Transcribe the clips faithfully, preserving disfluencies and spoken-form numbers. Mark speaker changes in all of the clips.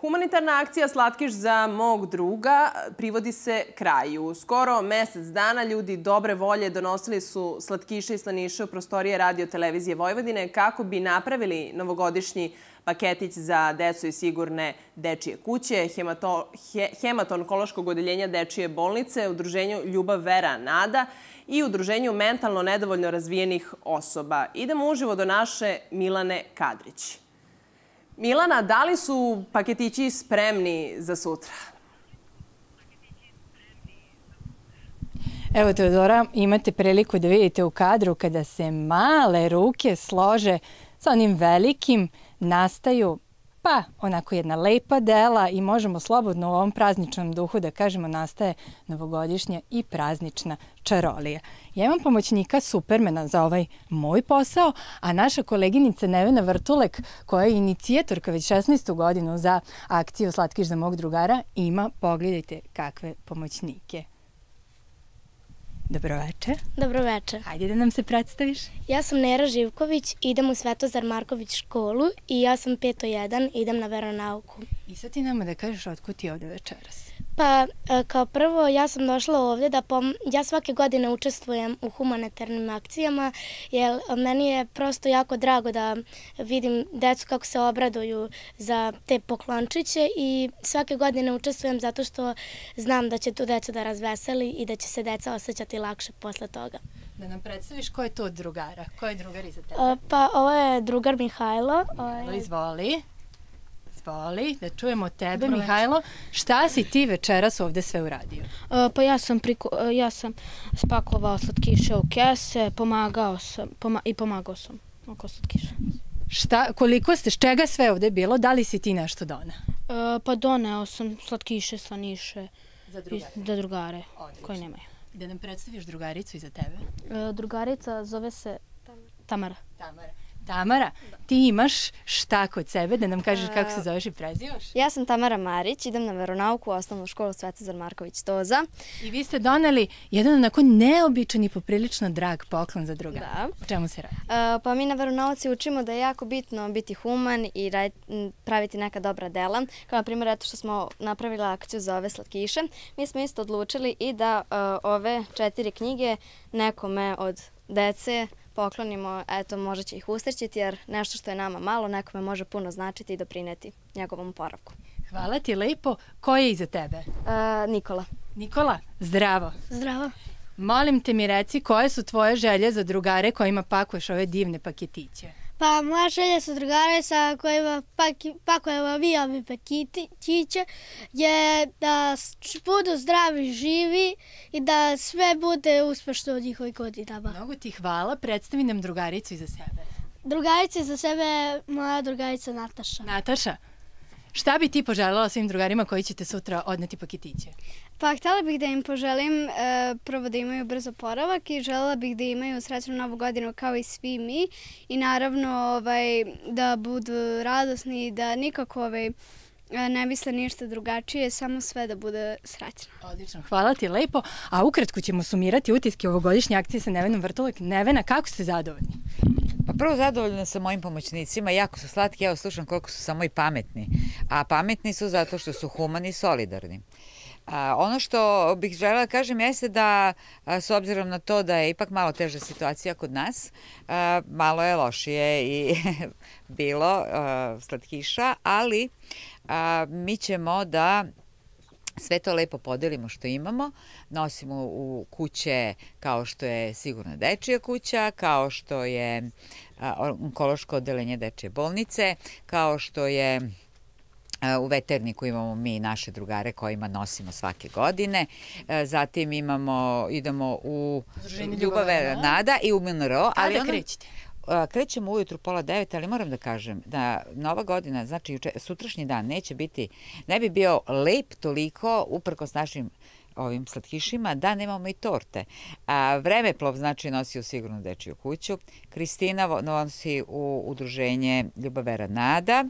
Speaker 1: Humanitarna akcija Slatkiš za mog druga privodi se kraju. Skoro mesec dana ljudi dobre volje donosili su slatkiše i slaniše u prostorije Radio televizije Vojvodine kako bi napravili novogodišnji paketić za decu i sigurne dečije kuće, hemato-onkološkog odeljenja dečije bolnice, udruženju Ljubav, Vera, Nada i udruženju mentalno nedovoljno razvijenih osoba. Idemo uživo do naše Milane Kadrić. Milana, da li su paketići spremni za sutra?
Speaker 2: Evo, Teodora, imate priliku da vidite u kadru kada se male ruke slože sa onim velikim, nastaju pa onako jedna lepa dela i možemo slobodno u ovom prazničnom duhu da kažemo nastaje novogodišnja i praznična čarolija. Ja imam pomoćnika Supermana za ovaj moj posao, a naša koleginica Nevena Vrtulek, koja je inicijatorka već šesnaestu godinu za akciju Slatkiš za mog drugara, ima, pogledajte kakve pomoćnike. Dobroveče.
Speaker 3: Dobroveče.
Speaker 2: Hajde da nam se predstaviš.
Speaker 3: Ja sam Nera Živković, idem u Svetozar Marković školu i ja sam peto jedan, idem na veronauku.
Speaker 2: I sad ti nama da kažeš otkud ti ovde večeras?
Speaker 3: Pa, kao prvo, ja sam došla ovde da pom... ja svake godine učestvujem u humanitarnim akcijama, jer meni je prosto jako drago da vidim decu kako se obraduju za te poklončiće i svake godine učestvujem zato što znam da će tu decu da razveseli i da će se deca osjećati lakše posle toga.
Speaker 2: Da nam predstaviš ko je to od drugara? Ko je drugar iza tebe?
Speaker 3: Pa, ovo je drugar Mihajlo.
Speaker 2: Izvoli. Izvoli, da čujemo tebe, Mihajlo. Šta si ti večeras ovde sve uradio?
Speaker 4: Pa ja sam, ja sam spakovao slatkiše u kese, pomagao sam i pomagao sam oko slatkiša.
Speaker 2: Šta, koliko ste, s čega sve ovde bilo? Da li si ti nešto doneo?
Speaker 4: Pa doneo sam slatkiše, slaniše za drugare koji nemaju.
Speaker 2: Da nam predstaviš drugaricu iza tebe?
Speaker 4: Drugarica zove se Tamara.
Speaker 2: Tamara. Tamara, ti imaš šta kod sebe, da nam kažeš kako se zoveš i prezivaš?
Speaker 5: Ja sam Tamara Marić, idem na veronauku u osnovnu školu Svetozar Marković Toza.
Speaker 2: I vi ste doneli jedan onako neobičan i poprilično drag poklon za drugara.
Speaker 5: Da.
Speaker 2: O čemu se radi?
Speaker 5: Pa mi na veronauci učimo da je jako bitno biti human i praviti neka dobra dela. Kao na primjer, eto što smo napravili akciju za ove slatkiše. Mi smo isto odlučili i da ove četiri knjige nekome od dece poklonimo, eto, možda će ih usrećiti, jer nešto što je nama malo, nekome može puno značiti i doprineti njegovom oporavku.
Speaker 2: Hvala ti lepo. Ko je iza tebe?
Speaker 5: Nikola.
Speaker 2: Nikola, zdravo.
Speaker 3: Zdravo.
Speaker 2: Molim te mi reci koje su tvoje želje za drugare kojima pakuješ ove divne paketiće?
Speaker 6: Pa moja želja sa drugare sa kojima pakujemo vi ove paketiće je da budu zdravi, živi i da sve bude uspešno u njihovih godinama.
Speaker 2: Mnogo ti hvala. Predstavi nam drugaricu iza sebe.
Speaker 6: Drugarica iza sebe je moja drugarica Nataša.
Speaker 2: Nataša, šta bi ti poželjela svim drugarima koji ćete sutra odneti paketiće?
Speaker 7: Pa htjela bih da im poželim prvo da imaju brzo oporavak i željela bih da imaju srećnu novu godinu kao i svi mi i naravno da budu radosni i da nikako ne misle ništa drugačije, samo sve da bude srećno.
Speaker 2: Odlično, hvala ti lepo. A ukratko ćemo sumirati utiske ovogodišnje akcije sa Nevenom Vrtulek. Nevena, kako ste zadovoljni?
Speaker 8: Pa prvo zadovoljna sam mojim pomoćnicima, jako su slatki, evo slušam koliko su samo i pametni. A pametni su zato što su humani i solidarni. Ono što bih želela da kažem jeste da, s obzirom na to da je ipak malo teža situacija kod nas, malo je lošije i bilo slatkiša, ali mi ćemo da sve to lepo podelimo što imamo, nosimo u kuće kao što je sigurna dečija kuća, kao što je onkološko odeljenje dečije bolnice, kao što je u veterniku imamo mi naše drugare kojima nosimo svake godine. Zatim imamo, idemo u Ljubav, Vera, Nada i u M N R O.
Speaker 2: Kada krećete?
Speaker 8: Krećemo ujutru pola devet, ali moram da kažem da nova godina, znači sutrašnji dan neće biti, ne bi bio lep toliko uprkos našim ovim slatkišima, da nemamo i torte. Vremeplov znači nosi u sigurnu dečiju kuću, Kristina nosi u udruženje Ljubav, Vera, Nada,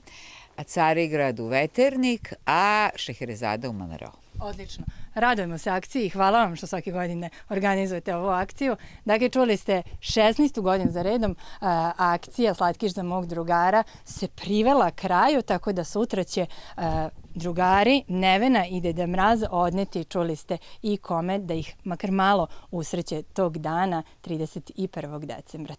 Speaker 8: Carigrad u veternik, a Šeherezada u M N R O.
Speaker 2: Odlično. Radujemo se akciji i hvala vam što svake godine organizujete ovu akciju. Dakle, čuli ste šesnaestu godinu za redom a, akcija Slatkiš za mog drugara se privela kraju, tako da sutra će a, drugari Nevena i Deda Mraz odneti, čuli ste i kome, da ih makar malo usreće tog dana trideset prvog decembra.